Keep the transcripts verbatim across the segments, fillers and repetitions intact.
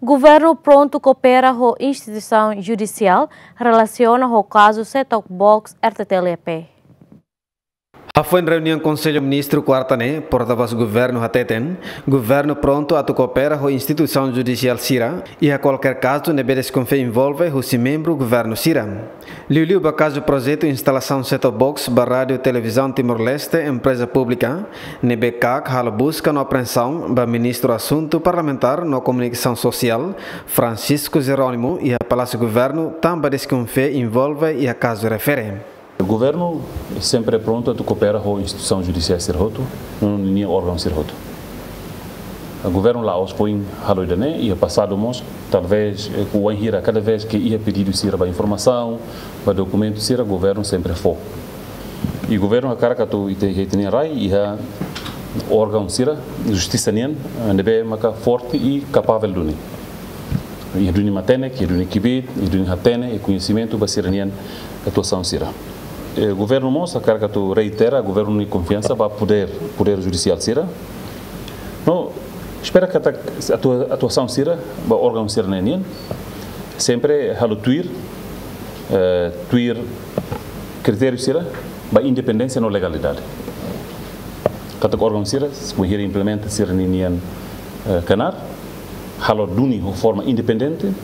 Governu prontu koopera ho instituisaun judisiál relasiona ho kazu set-top box R T T L E P. Hafoin reuniaun Konsellu Ministru kuarta ne'e, portavós governu hateten, governu prontu atu koopera ho instituisaun judisiál sira iha kualkér kazu ne'ebé deskonfia envolve husi membru governu sira. Liuliu ba kazu projetu instalasaun set-top box ba Rádiu Televizaun Timor-Leste, empreza públika, ne'ebé KAK halo buska no apreensaun ba Ministru Asuntu Parlamentár no Komunikasaun Sosiál, Francisco Jerónimo, iha Palásiu Governu, tanba deskonfia envolve iha kazu refere. Governu sempre prontu atu koopera ho instituisaun judisiál sira hotu, no ninia órgaun sira hotu. Governu la'ós foin halo ida-ne'e, iha pasadu mós, talvés, eh, ku wainhira, kada vez ke iha pedidu sira ba informasaun, ba dokumentu sira, governu sempre fó. I governu hakarak atu ita, ita-nia rai, iha órgaun sira, justisa nian, eh, ne'ebé maka forte i kapabel duni. Iha duni matenek, iha duni kbiit, iha duni hatene, iha koñesimentu ba sira-nian atuasaun sira. Eh, governu mós hakarak atu reitera governu nia konfiansa ba podér, podér judisiál sira. No, espera katak atua-, atuasaun sira ba órgaun sira-ne'e nian sempre halo tuir, eh, tuir kritériu sira ba independénsia no legalidade. Katak órgaun sira, bainhira implementa sira-ninian, eh, knaar, halo duni ho forma independente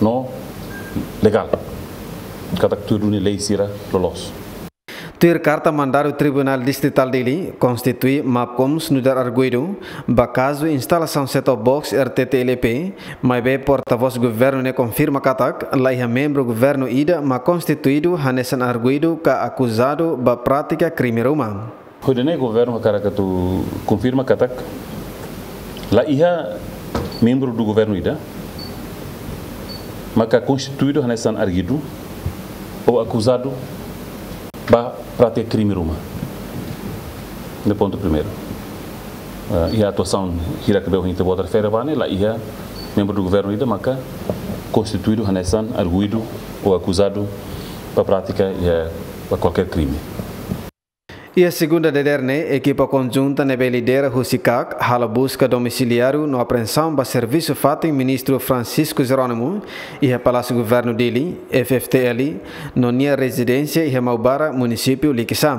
no legál. Katak tuir duni lei sira loloos. Tuir karta mandadu Tribunál Distritál Dili, konstitui MAPKOMS nu'udar arguidu ba kazu instalasaun set-top box R T T L E P, maibé portavós governu ne'e konfirma katak, laiha membru governu ida mak konstituidu hanesan arguidu ka akuzadu ba prátika krime ruma. Ho ida-ne'e governu hakarak atu konfirma katak, laiha membru do governu ida maka konstituidu hanesan arguidu ou akuzadu ba prátika krime ruma. Ne'e pontu primeiru. Eh, iha atuasaun hirak ne'ebé ohin ita-boot refere ba ne'e, laiha membru do governu ida maka konstituidu hanesan arguidu ou akuzadu ba prátika, iha, ba kualkér krime. Iha segunda dadeer ne'e, ekipa konjunta ne'ebé lidera husi KAK halo buska domisiliáriu no apreensaun ba servisu fatin Ministru Francisco Jerónimo iha Palásiu Governu Dili, F F T L, no nia rezidénsia iha Maubara, munisípiu Likisá.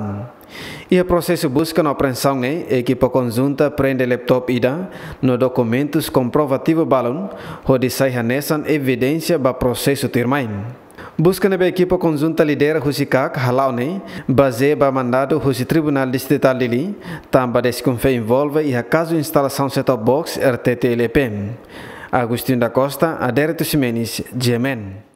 Iha prosesu buska no apreensaun ne'e, ekipa konjunta preende laptop ida no dokumentus komprovativu balun, hodi sai hanesan evidénsia ba prosesu tuirmai. Buska ne'ebé ekipa konjunta lidera husi KAK hala'o ne'e bazeia ba mandadu husi Tribunál Distritál Dili, tanba deskonfia envolve iha kazu instalasaun set-top box R T T L E P. Agostinho da Costa, Adérito Ximenes, G M N.